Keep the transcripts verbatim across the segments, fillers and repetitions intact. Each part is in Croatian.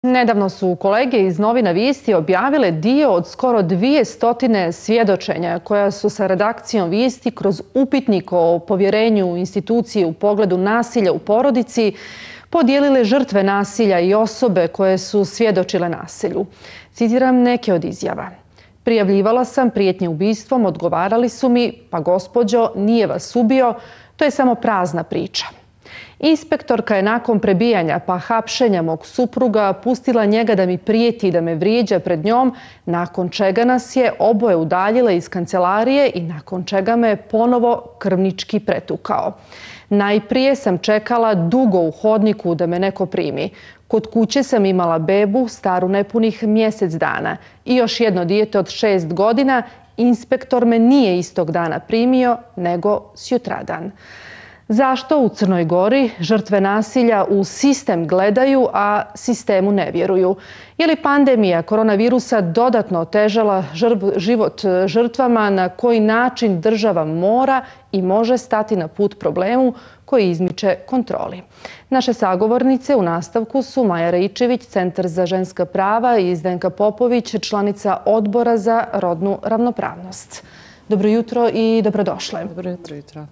Nedavno su kolege iz novina Vijesti objavile dio od skoro dvije stotine svjedočenja koja su sa redakcijom Vijesti kroz upitnik o povjerenju u institucije u pogledu nasilja u porodici podijelile žrtve nasilja i osobe koje su svjedočile nasilju. Citiram neke od izjava. Prijavljivala sam prijetnje ubistvom, odgovarali su mi, pa gospođo, nije vas ubio, to je samo prazna priča. Inspektorka je nakon prebijanja pa hapšenja mog supruga pustila njega da mi prijeti i da me vrijeđa pred njom, nakon čega nas je oboje udaljila iz kancelarije i nakon čega me ponovo krvnički pretukao. Najprije sam čekala dugo u hodniku da me neko primi. Kod kuće sam imala bebu staru nepunih mjesec dana i još jedno dijete od šest godina. Inspektor me nije istog dana primio, nego sutradan. Zašto u Crnoj Gori žrtve nasilja u sistem gledaju, a sistemu ne vjeruju? Je li pandemija koronavirusa dodatno otežala život žrtvama? Na koji način država mora i može stati na put problemu koji izmiče kontroli? Naše sagovornice u nastavku su Maja Raičević, Centar za ženska prava, i Zdenka Popović, članica Odbora za rodnu ravnopravnost. Dobro jutro i dobrodošle. Dobro jutro, jutro.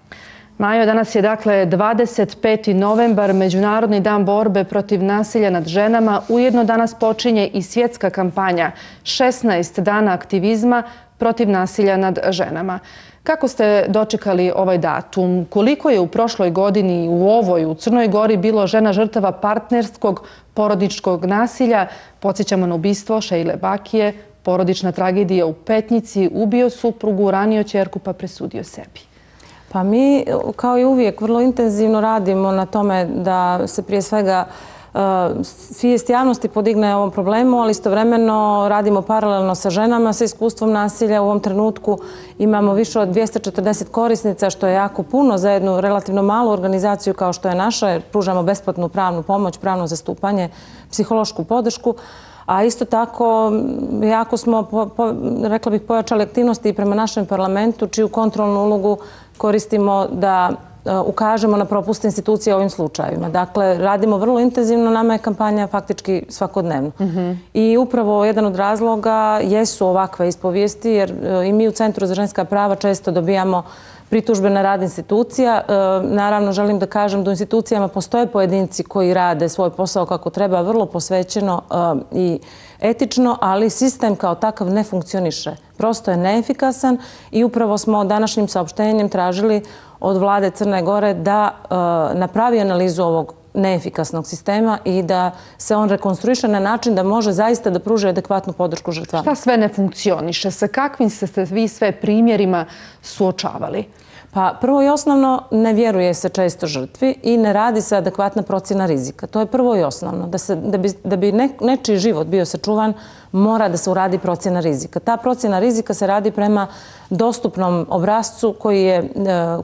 Majo, danas je dakle dvadeset peti novembar, Međunarodni dan borbe protiv nasilja nad ženama. Ujedno danas počinje i svjetska kampanja šesnaest dana aktivizma protiv nasilja nad ženama. Kako ste dočekali ovaj datum? Koliko je u prošloj godini u ovoj, u Crnoj Gori, bilo žena žrtava partnerskog porodičkog nasilja? Podsjećamo na ubistvo Šejle Bakije, porodična tragedija u Petnici, ubio suprugu, ranio ćerku pa presudio sebi. Pa mi, kao i uvijek, vrlo intenzivno radimo na tome da se prije svega svijest javnosti podigne ovom problemu, ali istovremeno radimo paralelno sa ženama sa iskustvom nasilja. U ovom trenutku imamo više od dvjesto četrdeset korisnica, što je jako puno za jednu relativno malu organizaciju kao što je naša, jer pružamo besplatnu pravnu pomoć, pravno zastupanje, psihološku podršku. A isto tako, jako smo, po, po, rekla bih, pojačali aktivnosti i prema našem parlamentu, čiju kontrolnu ulogu koristimo da uh, ukažemo na propuste institucije ovim slučajevima. Dakle, radimo vrlo intenzivno, nama je kampanja faktički svakodnevno. Mm-hmm. I upravo jedan od razloga jesu ovakve ispovijesti, jer uh, i mi u Centru za ženska prava često dobijamo pritužbe na rad institucija. E, naravno, želim da kažem da u institucijama postoje pojedinci koji rade svoj posao kako treba, vrlo posvećeno e, i etično, ali sistem kao takav ne funkcioniše. Prosto je neefikasan i upravo smo današnjim saopštenjem tražili od vlade Crne Gore da e, napravi analizu ovog neefikasnog sistema i da se on rekonstruiše na način da može zaista da pruži adekvatnu podršku žrtvama. Šta sve ne funkcioniše? Sa kakvim ste se vi sve primjerima suočavali? Pa prvo i osnovno, ne vjeruje se često žrtvi i ne radi se adekvatna procjena rizika. To je prvo i osnovno. Da, se, da bi, da bi ne, nečiji život bio sačuvan, mora da se uradi procjena rizika. Ta procjena rizika se radi prema dostupnom obrascu koji, je,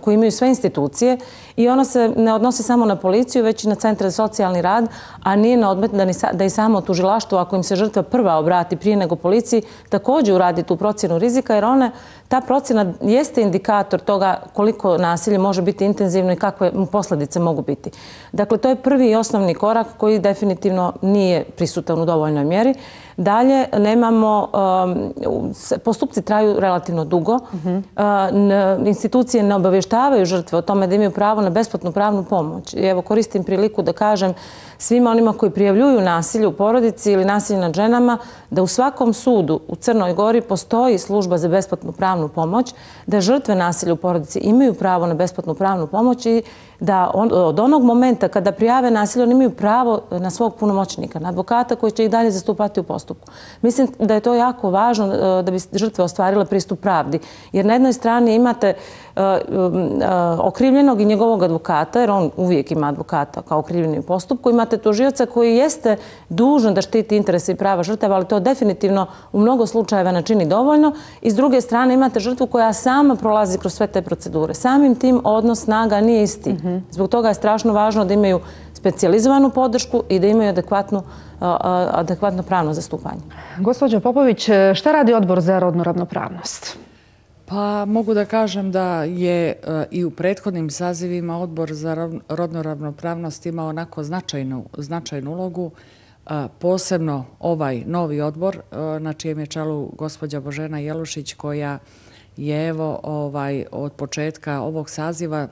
koji imaju sve institucije i ona se ne odnosi samo na policiju, već i na centre za socijalni rad, a nije na odmet da, ni, da i samo tužilaštvo, ako im se žrtva prva obrati prije nego policiji, također uradi tu procjenu rizika, jer one, ta procjena jeste indikator toga koliko nasilje može biti intenzivno i kakve posljedice mogu biti. Dakle, to je prvi i osnovni korak koji definitivno nije prisutan u dovoljnoj mjeri. Dalje, nemamo, um, postupci traju relativno dugo. Uh-huh. uh, institucije ne obavještavaju žrtve o tome da imaju pravo na besplatnu pravnu pomoć. I evo, koristim priliku da kažem svima onima koji prijavljuju nasilje u porodici ili nasilje nad ženama da u svakom sudu u Crnoj Gori postoji služba za besplatnu pravnu pomoć, da žrtve nasilja u porodici imaju pravo na besplatnu pravnu pomoć i da on, od onog momenta kada prijave nasilje, oni imaju pravo na svog punomoćnika, na advokata koji će ih dalje zastupati u postupku. Mislim da je to jako važno da bi žrtve ostvarile pristup pravdi. Jer na jednoj strani imate uh, uh, okrivljenog i njegovog advokata, jer on uvijek ima advokata kao okrivljeni u postupku. Imate tužioca koji jeste dužan da štiti interese i prava žrtava, ali to definitivno u mnogo slučajeva ne čini dovoljno. I s druge strane imate žrtvu koja sama prolazi kroz sve te procedure. Samim tim odnos snaga nije isti. Mm-hmm. Zbog toga je strašno važno da imaju specijalizovanu podršku i da imaju adekvatnu, adekvatno pravno zastupanje. Gospođo Popović, šta radi Odbor za rodnu ravnopravnost? Pa mogu da kažem da je i u prethodnim sazivima Odbor za rodnu ravnopravnost imao onako značajnu, značajnu ulogu. posebno ovaj novi odbor na čijem je čelu gospođa Božena Jelušić, koja je evo ovaj, od početka ovog saziva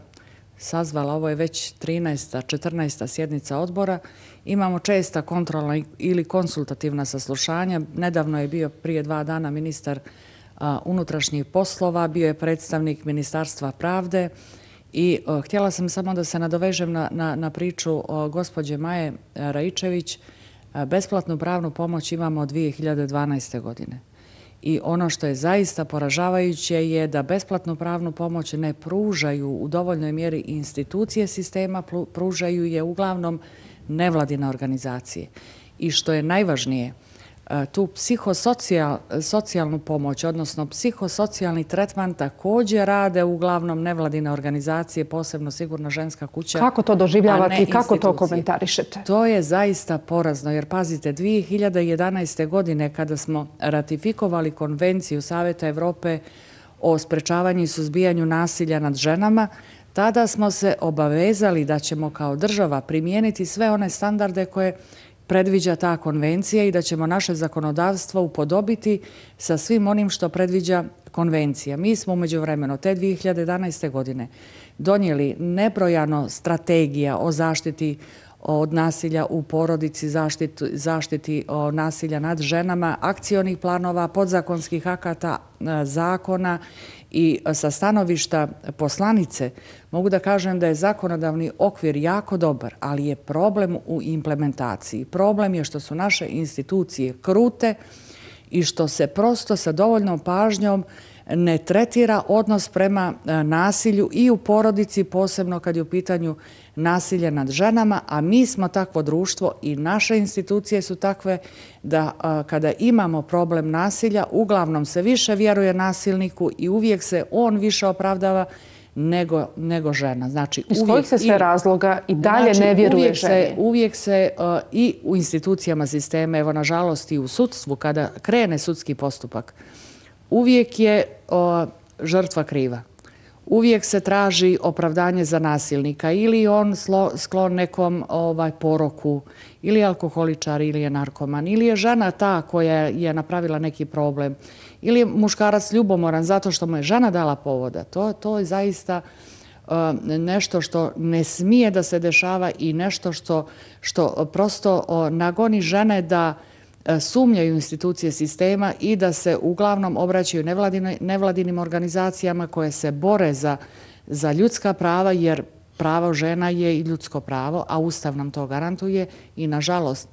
sazvala, ovo je već trinaesta, četrnaesta sjednica odbora. Imamo česta kontrolna ili konsultativna saslušanja. Nedavno je bio prije dva dana ministar a, unutrašnjih poslova, bio je predstavnik Ministarstva pravde i a, htjela sam samo da se nadovežem na, na, na priču o gospođe Maje Raičević. A, besplatnu pravnu pomoć imamo od dvije hiljade dvanaeste. godine. I ono što je zaista poražavajuće je da besplatnu pravnu pomoć ne pružaju u dovoljnoj mjeri institucije sistema, pružaju je uglavnom nevladine organizacije. I što je najvažnije, tu psihosocijalnu pomoć, odnosno psihosocijalni tretman također rade uglavnom nevladine organizacije, posebno Sigurna ženska kuća. Kako to doživljavate i kako to komentarišete? To je zaista porazno, jer pazite, dvije hiljade jedanaeste. godine kada smo ratifikovali Konvenciju Saveta Evrope o sprečavanju i suzbijanju nasilja nad ženama, tada smo se obavezali da ćemo kao država primijeniti sve one standarde koje predviđa ta konvencija i da ćemo naše zakonodavstvo upodobiti sa svim onim što predviđa konvencija. Mi smo umeđu vremenu te dvije hiljade jedanaeste. godine donijeli nebrojano strategija o zaštiti od nasilja u porodici, zaštiti, zaštiti o nasilja nad ženama, akcionih planova, podzakonskih akata, zakona. I sa stanovišta poslanice mogu da kažem da je zakonodavni okvir jako dobar, ali je problem u implementaciji. Problem je što su naše institucije krute i što se prosto sa dovoljnom pažnjom ne tretira odnos prema nasilju i u porodici, posebno kad je u pitanju nasilje nad ženama, a mi smo takvo društvo i naše institucije su takve da kada imamo problem nasilja, uglavnom se više vjeruje nasilniku i uvijek se on više opravdava nego, nego žena. Znači, iz kojih se sve razloga i dalje znači, ne vjeruje uvijek ženi? Se, uvijek se uh, i u institucijama sistema, evo nažalost i u sudstvu, kada krene sudski postupak, uvijek je uh, žrtva kriva. Uvijek se traži opravdanje za nasilnika, ili on slo, sklon nekom ovaj, poroku, ili alkoholičar, ili je narkoman, ili je žena ta koja je napravila neki problem, ili je muškarac ljubomoran zato što mu je žena dala povoda. To, to je zaista uh, nešto što ne smije da se dešava i nešto što, što prosto uh, nagoni žene da sumnjaju institucije sistema i da se uglavnom obraćaju nevladinim organizacijama koje se bore za, za ljudska prava, jer pravo žena je i ljudsko pravo, a Ustav nam to garantuje i nažalost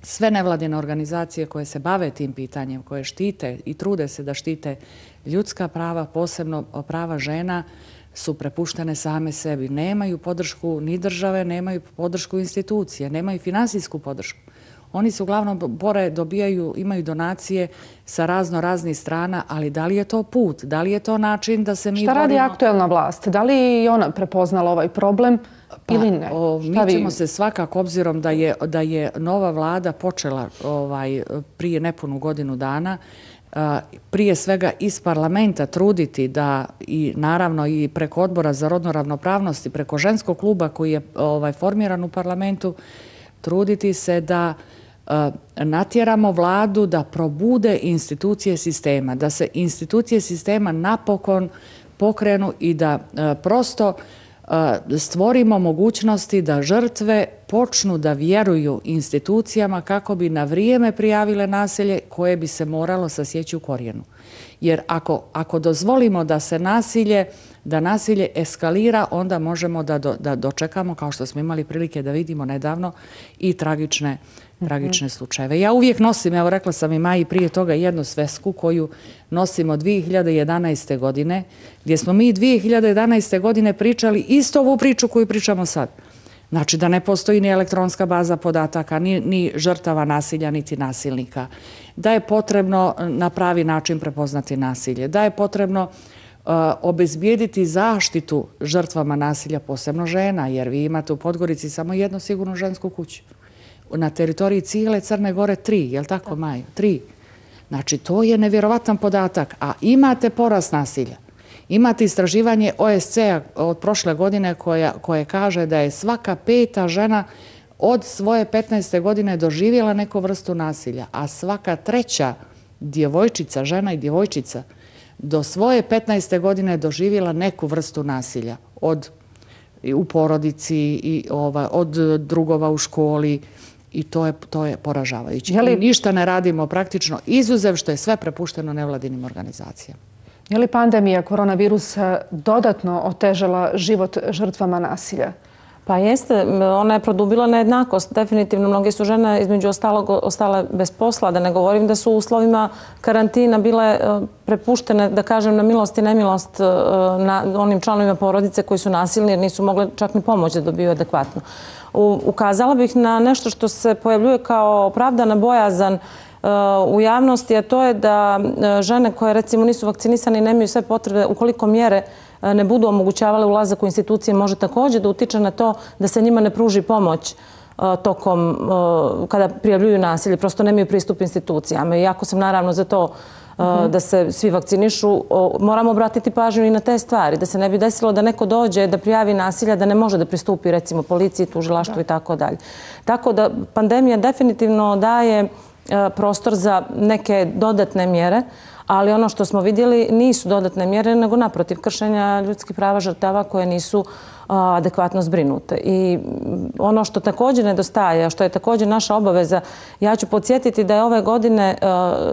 sve nevladine organizacije koje se bave tim pitanjem, koje štite i trude se da štite ljudska prava, posebno prava žena, su prepuštene same sebi. Nemaju podršku ni države, nemaju podršku institucije, nemaju finansijsku podršku. Oni se uglavnom bore, dobijaju, imaju donacije sa razno raznih strana, ali da li je to put? Da li je to način da se mi Šta radi borimo? aktuelna vlast? Da li je ona prepoznala ovaj problem Pa, ili ne? O, mi Šta ćemo vi... se svakako, obzirom da je, da je nova vlada počela ovaj, prije nepunu godinu dana, a, prije svega iz parlamenta truditi da i naravno i preko odbora za rodnu ravnopravnost i preko ženskog kluba koji je ovaj, formiran u parlamentu, truditi se da natjeramo vladu da probude institucije sistema, da se institucije sistema napokon pokrenu i da prosto stvorimo mogućnosti da žrtve počnu da vjeruju institucijama kako bi na vrijeme prijavile nasilje koje bi se moralo sasjeći u korijenu. Jer ako, ako dozvolimo da se nasilje, da nasilje eskalira, onda možemo da, do, da dočekamo, kao što smo imali prilike da vidimo nedavno, i tragične tragične slučajeve. Ja uvijek nosim, evo rekla sam i Maji prije toga, jednu svesku koju nosimo dvije hiljade jedanaeste. godine, gdje smo mi dvije hiljade jedanaeste. godine pričali isto ovu priču koju pričamo sad. Znači da ne postoji ni elektronska baza podataka, ni, ni žrtava nasilja, niti nasilnika. Da je potrebno na pravi način prepoznati nasilje. Da je potrebno uh, obezbijediti zaštitu žrtvama nasilja, posebno žena, jer vi imate u Podgorici samo jednu sigurnu žensku kuću. Na teritoriji cijele Crne Gore tri, je li tako, Maju? Tri. Znači, to je nevjerovatan podatak. A imate porast nasilja. Imate istraživanje O S C-a od prošle godine koja, koje kaže da je svaka peta žena od svoje petnaeste godine doživjela neku vrstu nasilja, a svaka treća djevojčica, žena i djevojčica, do svoje petnaeste godine doživjela neku vrstu nasilja od u porodici i ova, od drugova u školi i to je, to je poražavajuće. Je li... I ništa ne radimo praktično, izuzev što je sve prepušteno nevladinim organizacijama. Je li pandemija koronavirusa dodatno otežala život žrtvama nasilja? Pa jeste, ona je produbila nejednakost. Definitivno, mnoge su žene između ostalog ostale bez posla, da ne govorim da su u uslovima karantina bile prepuštene, da kažem, na milost i nemilost na onim članovima porodice koji su nasilni jer nisu mogle čak ni pomoć da dobiju adekvatno. Ukazala bih na nešto što se pojavljuje kao opravdana bojazan u javnosti, a to je da žene koje recimo nisu vakcinisane i nemaju sve potrebe, ukoliko mjere ne budu omogućavale ulazak u institucije, može također da utiče na to da se njima ne pruži pomoć tokom kada prijavljuju nasilje, prosto nemaju pristup institucijama. Iako sam naravno za to da se svi vakcinišu, moramo obratiti pažnju i na te stvari, da se ne bi desilo da neko dođe da prijavi nasilja, da ne može da pristupi recimo policiji, tužilaštvu i tako dalje. Tako da pandemija definitivno daje prostor za neke dodatne mjere, ali ono što smo vidjeli nisu dodatne mjere, nego naprotiv kršenja ljudskih prava žrtava koje nisu adekvatno zbrinute. I ono što također nedostaje, a što je također naša obaveza, ja ću podsjetiti da je ove godine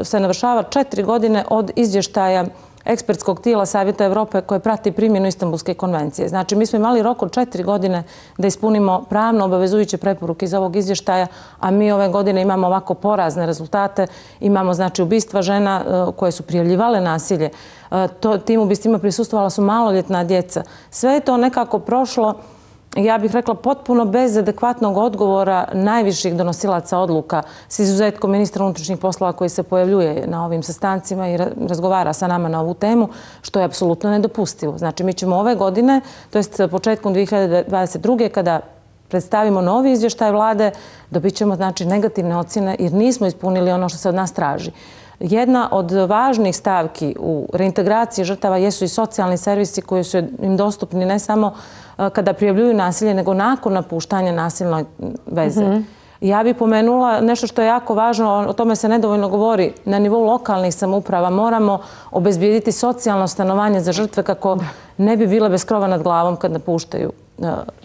se navršava četiri godine od izvještaja ekspertskog tijela Savjeta Evrope koje prati primjenu Istanbulske konvencije. Znači, mi smo imali rok od četiri godine da ispunimo pravno obavezujuće preporuke iz ovog izvještaja, a mi ove godine imamo ovako porazne rezultate. Imamo, znači, ubistva žena koje su prijavljivale nasilje. To, tim ubistvima prisustvovala su maloljetna djeca. Sve je to nekako prošlo, ja bih rekla, potpuno bez adekvatnog odgovora najviših donosilaca odluka, s izuzetkom ministra unutrašnjih poslova koji se pojavljuje na ovim sastancima i razgovara sa nama na ovu temu, što je apsolutno nedopustivo. Znači, mi ćemo ove godine, to jest početkom dvije hiljade dvadeset druge. kada predstavimo novi izvještaj vlade, dobit ćemo, znači, negativne ocjene jer nismo ispunili ono što se od nas traži. Jedna od važnih stavki u reintegraciji žrtava jesu i socijalni servisi koji su im dostupni ne samo kada prijavljuju nasilje, nego nakon napuštanja nasilne veze. Mm-hmm. Ja bih pomenula nešto što je jako važno, o tome se nedovoljno govori, na nivou lokalnih samouprava moramo obezbijediti socijalno stanovanje za žrtve kako ne bi bile bez krova nad glavom kad napuštaju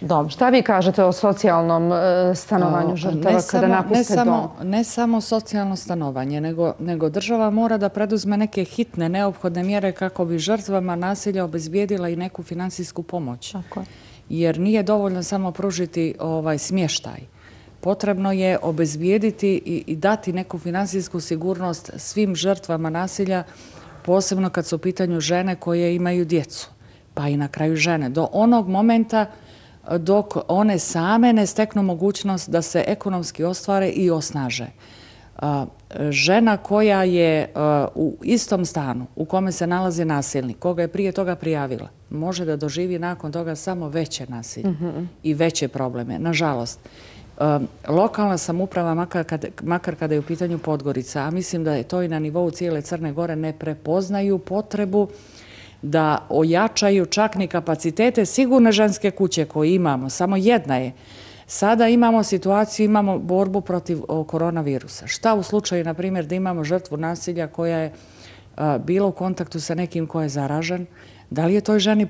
dom. Šta vi kažete o socijalnom stanovanju žrtava kada napuste dom? Ne samo socijalno stanovanje, nego, nego država mora da preduzme neke hitne, neophodne mjere kako bi žrtvama nasilja obezbijedila i neku finansijsku pomoć. Tako je. Jer nije dovoljno samo pružiti ovaj smještaj. Potrebno je obezbijediti i, i dati neku finansijsku sigurnost svim žrtvama nasilja, posebno kad su u pitanju žene koje imaju djecu, pa i na kraju žene. Do onog momenta dok one same ne steknu mogućnost da se ekonomski ostvare i osnaže. Žena koja je u istom stanu u kome se nalazi nasilnik, koga je prije toga prijavila, može da doživi nakon toga samo veće nasilje mm-hmm. i veće probleme. Nažalost, lokalna samouprava, makar kada, makar kada je u pitanju Podgorica, a mislim da je to i na nivou cijele Crne Gore, ne prepoznaju potrebu da ojačaju čak ni kapacitete sigurne ženske kuće koje imamo. Samo jedna je. Sada imamo situaciju, imamo borbu protiv koronavirusa. Šta u slučaju, na primjer, da imamo žrtvu nasilja koja je bila u kontaktu sa nekim ko je zaražen? Da li je toj ženi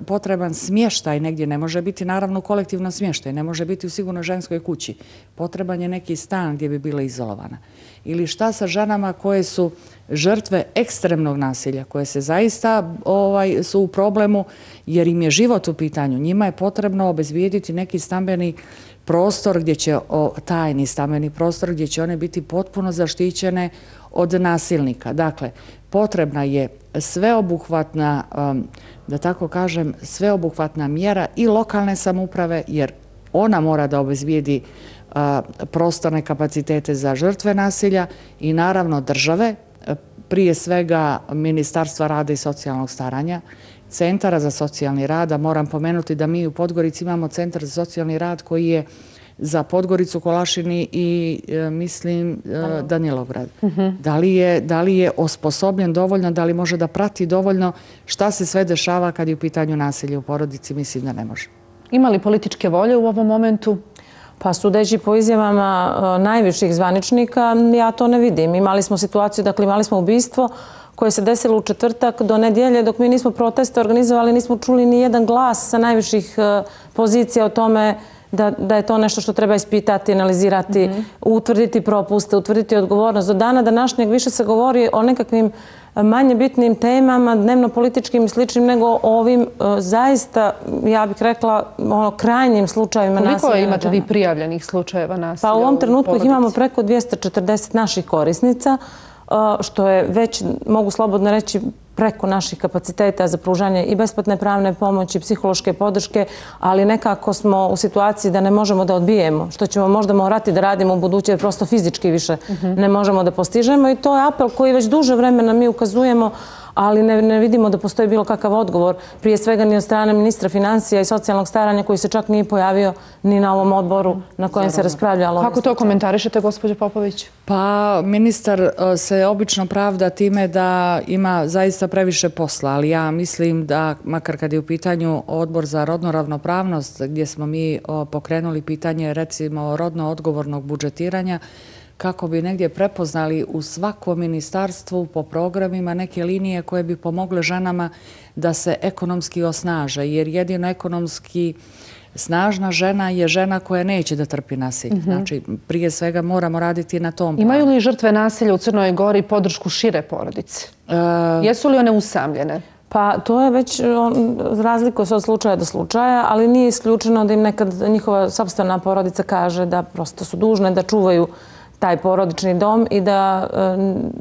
potreban smještaj negdje? Ne može biti naravno kolektivno smještaj, ne može biti u sigurnoj ženskoj kući. Potreban je neki stan gdje bi bila izolovana. Ili šta sa ženama koje su žrtve ekstremnog nasilja, koje se zaista ovaj, su u problemu jer im je život u pitanju. Njima je potrebno obezbijediti neki stambeni prostor gdje će, o, tajni stambeni prostor gdje će one biti potpuno zaštićene od nasilnika. Dakle, potrebna je sveobuhvatna, da tako kažem, sveobuhvatna mjera i lokalne samouprave, jer ona mora da obezbijedi prostorne kapacitete za žrtve nasilja i naravno države, prije svega Ministarstva rada i socijalnog staranja, Centara za socijalni rad, a moram pomenuti da mi u Podgorici imamo Centar za socijalni rad koji je za Podgoricu, Kolašini i e, mislim e, Danilovgrad. Mm-hmm. Da li je, da li je osposobljen dovoljno, da li može da prati dovoljno šta se sve dešava kad je u pitanju nasilja u porodici, mislim da ne može. Ima li političke volje u ovom momentu? Pa sudeći po izjavama najviših zvaničnika, ja to ne vidim. Imali smo situaciju, dakle imali smo ubistvo koje se desilo u četvrtak do nedjelje, dok mi nismo proteste organizovali, nismo čuli ni jedan glas sa najviših pozicija o tome da, da je to nešto što treba ispitati, analizirati, mm-hmm. utvrditi propuste, utvrditi odgovornost. Do dana današnjeg više se govori o nekakvim manje bitnim temama, dnevno-političkim i sličnim, nego o ovim uh, zaista, ja bih rekla, ono, krajnjim slučajevima nasilja. Koliko imate vi prijavljenih slučajeva nasilja? Pa u ovom trenutku ih imamo porodici? preko dvjesto četrdeset naših korisnica, uh, što je već, mogu slobodno reći, preko naših kapaciteta za pružanje i besplatne pravne pomoći, psihološke podrške, ali nekako smo u situaciji da ne možemo da odbijemo, što ćemo možda morati da radimo u buduće, jer prosto fizički više uh-huh. ne možemo da postižemo i to je apel koji već duže vremena mi ukazujemo, ali ne, ne vidimo da postoji bilo kakav odgovor, prije svega ni od strane ministra financija i socijalnog staranja koji se čak nije pojavio ni na ovom odboru na kojem se raspravljalo. Kako to komentarišete, gospođo Popović? Pa ministar se obično pravda time da ima zaista previše posla, ali ja mislim da, makar kad je u pitanju odbor za rodnu ravnopravnost, gdje smo mi pokrenuli pitanje recimo rodno odgovornog budžetiranja, kako bi negdje prepoznali u svakom ministarstvu po programima neke linije koje bi pomogle ženama da se ekonomski osnaže, jer jedino ekonomski snažna žena je žena koja neće da trpi nasilje. Mm-hmm. Znači, prije svega moramo raditi na tom planu. Imaju li žrtve nasilja u Crnoj Gori podršku šire porodice? E... Jesu li one usamljene? Pa to je već razlikuje se od slučaja do slučaja, ali nije isključeno da im nekad njihova sopstvena porodica kaže da prosto su dužne da čuvaju taj porodični dom i da,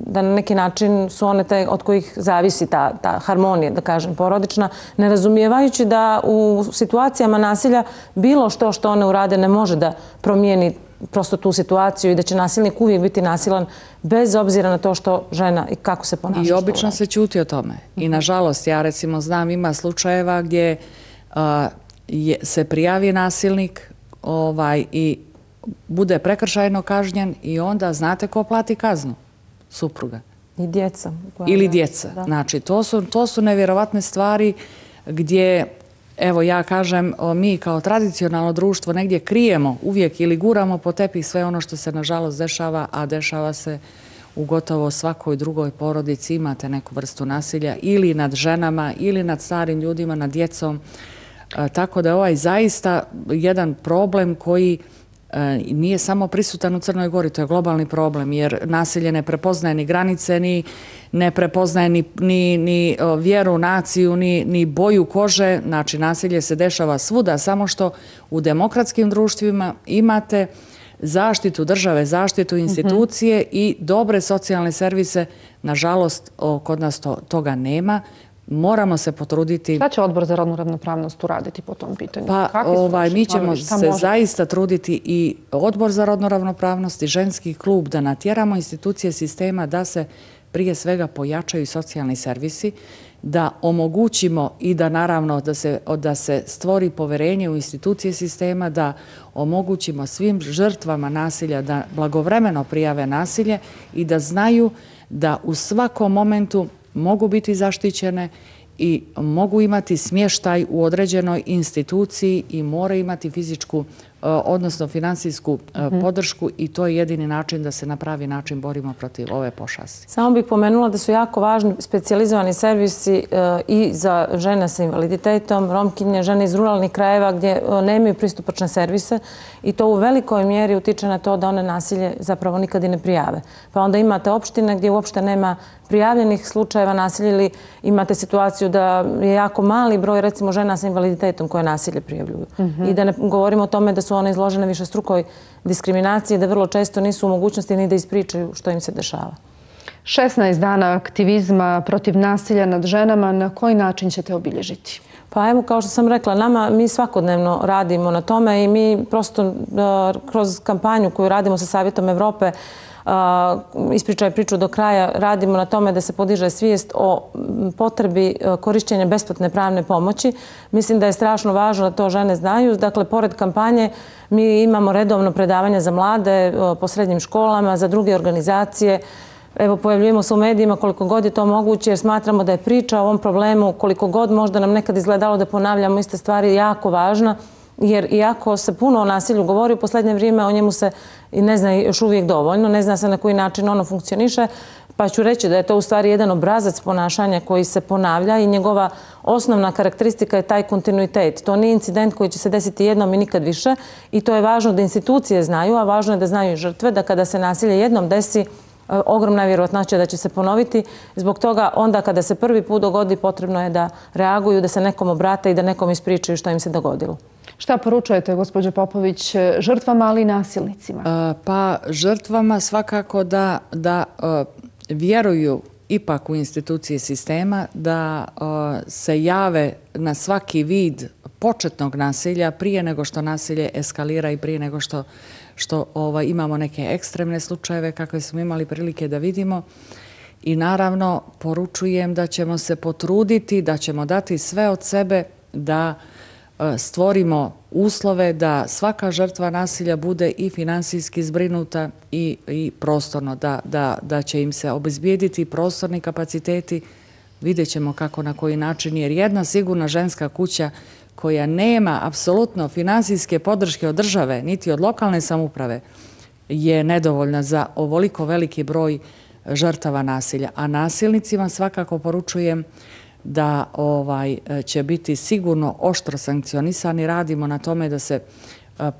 da na neki način su one te od kojih zavisi ta, ta harmonija, da kažem, porodična, ne razumijevajući da u situacijama nasilja bilo što što one urade ne može da promijeni prosto tu situaciju i da će nasilnik uvijek biti nasilan bez obzira na to što žena i kako se ponaša. I obično se ćuti o tome. I nažalost, ja recimo znam, ima slučajeva gdje uh, je, se prijavi nasilnik ovaj, i bude prekršajno kažnjen i onda znate ko plati kaznu? Supruga. I djeca. Ili djeca. Da. Znači, to su, to su nevjerovatne stvari gdje, evo ja kažem, mi kao tradicionalno društvo negdje krijemo uvijek ili guramo po tepih sve ono što se nažalost dešava, a dešava se u gotovo svakoj drugoj porodici. Imate neku vrstu nasilja ili nad ženama, ili nad starim ljudima, nad djecom. E, tako da je ovaj zaista jedan problem koji nije samo prisutan u Crnoj Gori, to je globalni problem, jer nasilje ne prepoznaje ni granice, ni ne prepoznaje ni, ni, ni vjeru, naciju, ni, ni boju kože. Znači, nasilje se dešava svuda, samo što u demokratskim društvima imate zaštitu države, zaštitu institucije mm-hmm. i dobre socijalne servise. Nažalost, kod nas to, toga nema. Moramo se potruditi... Šta će odbor za rodnu ravnopravnost uraditi po tom pitanju? Pa ovaj, mi ćemo se može? zaista truditi i odbor za rodnu ravnopravnost i ženski klub da natjeramo institucije sistema da se prije svega pojačaju socijalni servisi, da omogućimo i da naravno da se, da se stvori poverenje u institucije sistema, da omogućimo svim žrtvama nasilja da blagovremeno prijave nasilje i da znaju da u svakom momentu mogu biti zaštićene i mogu imati smještaj u određenoj instituciji i moraju imati fizičku, odnosno finansijsku mm-hmm. podršku i to je jedini način da se na pravi način borimo protiv ove pošasti. Samo bih pomenula da su jako važni specijalizovani servisi i za žene sa invaliditetom, romkinje, žene iz ruralnih krajeva gdje nemaju pristupačne servise i to u velikoj mjeri utiče na to da one nasilje zapravo nikad i ne prijave. Pa onda imate opštine gdje uopšte nema prijavljenih slučajeva nasilja ili imate situaciju da je jako mali broj recimo žena sa invaliditetom koje nasilje prijavljuju. Mm-hmm. I da ne govorimo o tome da su one izložene višestrukoj diskriminaciji, da vrlo često nisu u mogućnosti ni da ispričaju što im se dešava. šesnaest dana aktivizma protiv nasilja nad ženama, na koji način ćete obilježiti? Pa evo, kao što sam rekla, nama mi svakodnevno radimo na tome i mi prosto uh, kroz kampanju koju radimo sa Savjetom Evrope Uh, ispričaj priču do kraja, radimo na tome da se podiže svijest o potrebi uh, korišćenja besplatne pravne pomoći. Mislim da je strašno važno da to žene znaju. Dakle, pored kampanje mi imamo redovno predavanja za mlade uh, po srednjim školama, za druge organizacije. Evo, pojavljujemo se u medijima koliko god je to moguće jer smatramo da je priča o ovom problemu koliko god možda nam nekad izgledalo da ponavljamo iste stvari jako važna jer iako se puno o nasilju govori u posljednje vrijeme, o njemu se i ne zna još uvijek dovoljno, ne zna se na koji način ono funkcioniše, pa ću reći da je to u stvari jedan obrazac ponašanja koji se ponavlja i njegova osnovna karakteristika je taj kontinuitet. To nije incident koji će se desiti jednom i nikad više i to je važno da institucije znaju, a važno je da znaju i žrtve, da kada se nasilje jednom desi, ogromna je vjerojatnoća da će se ponoviti. Zbog toga onda kada se prvi put dogodi potrebno je da reaguju, da se nekom obrate i da nekom ispričaju što im se dogodilo. Šta poručujete, gospođo Popović, žrtvama, ali i nasilnicima? Pa žrtvama svakako da, da vjeruju ipak u institucije sistema, da se jave na svaki vid početnog nasilja prije nego što nasilje eskalira i prije nego što, što ovaj, imamo neke ekstremne slučajeve kakve smo imali prilike da vidimo. I naravno poručujem da ćemo se potruditi, da ćemo dati sve od sebe da stvorimo uslove da svaka žrtva nasilja bude i finansijski zbrinuta i, i prostorno, da, da, da će im se obezbijediti prostorni kapaciteti. Vidjet ćemo kako, na koji način, jer jedna sigurna ženska kuća koja nema apsolutno finansijske podrške od države, niti od lokalne samouprave, je nedovoljna za ovoliko veliki broj žrtava nasilja. A nasilnicima svakako poručujem da ovaj, će biti sigurno oštro sankcionisani. Radimo na tome da se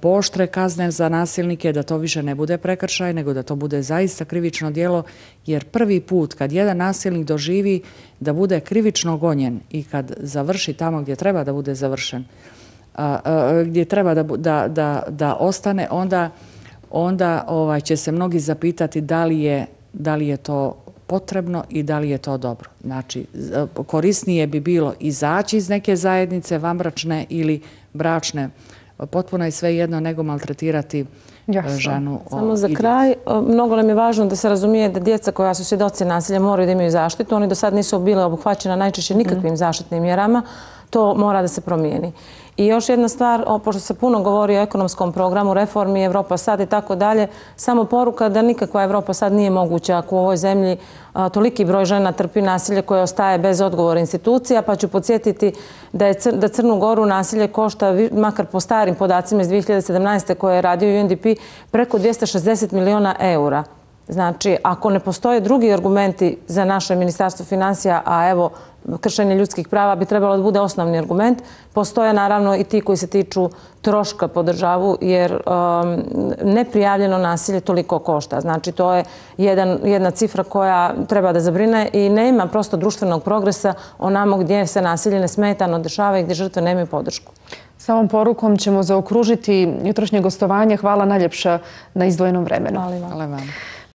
pooštre kazne za nasilnike, da to više ne bude prekršaj, nego da to bude zaista krivično djelo, jer prvi put kad jedan nasilnik doživi da bude krivično gonjen i kad završi tamo gdje treba da bude završen, gdje treba da, da, da, da ostane, onda, onda ovaj, će se mnogi zapitati da li je, da li je to potrebno i da li je to dobro. Znači, korisnije bi bilo izaći iz neke zajednice, vanbračne ili bračne, potpuno je sve jedno nego maltretirati Jasno. ženu. Samo za kraj, mnogo nam je važno da se razumije da djeca koja su svjedoci nasilja moraju da imaju zaštitu. Oni do sad nisu bile obuhvaćena najčešće nikakvim mm. zaštitnim mjerama. To mora da se promijeni. I još jedna stvar, pošto se puno govori o ekonomskom programu, reformi, Evropa sad i tako dalje, samo poruka da nikakva Evropa sad nije moguća ako u ovoj zemlji a, toliki broj žena trpi nasilje koje ostaje bez odgovora institucija, pa ću podsjetiti da, je cr da Crnu Goru nasilje košta, makar po starim podacima iz dvije hiljade sedamnaeste koje je radio U N D P, preko dvjesto šezdeset miliona eura. Znači, ako ne postoje drugi argumenti za naše ministarstvo financija, a evo, kršenje ljudskih prava bi trebalo da bude osnovni argument, postoje naravno i ti koji se tiču troška po državu, jer um, neprijavljeno nasilje toliko košta. Znači, to je jedan, jedna cifra koja treba da zabrine i nema prosto društvenog progresa onamo gdje se nasilje nesmetano dešava i gdje žrtve nemaju podršku. Samom porukom ćemo zaokružiti jutrošnje gostovanje. Hvala najljepša na izdvojenom vremenu. Hvala vam. Hvala vam.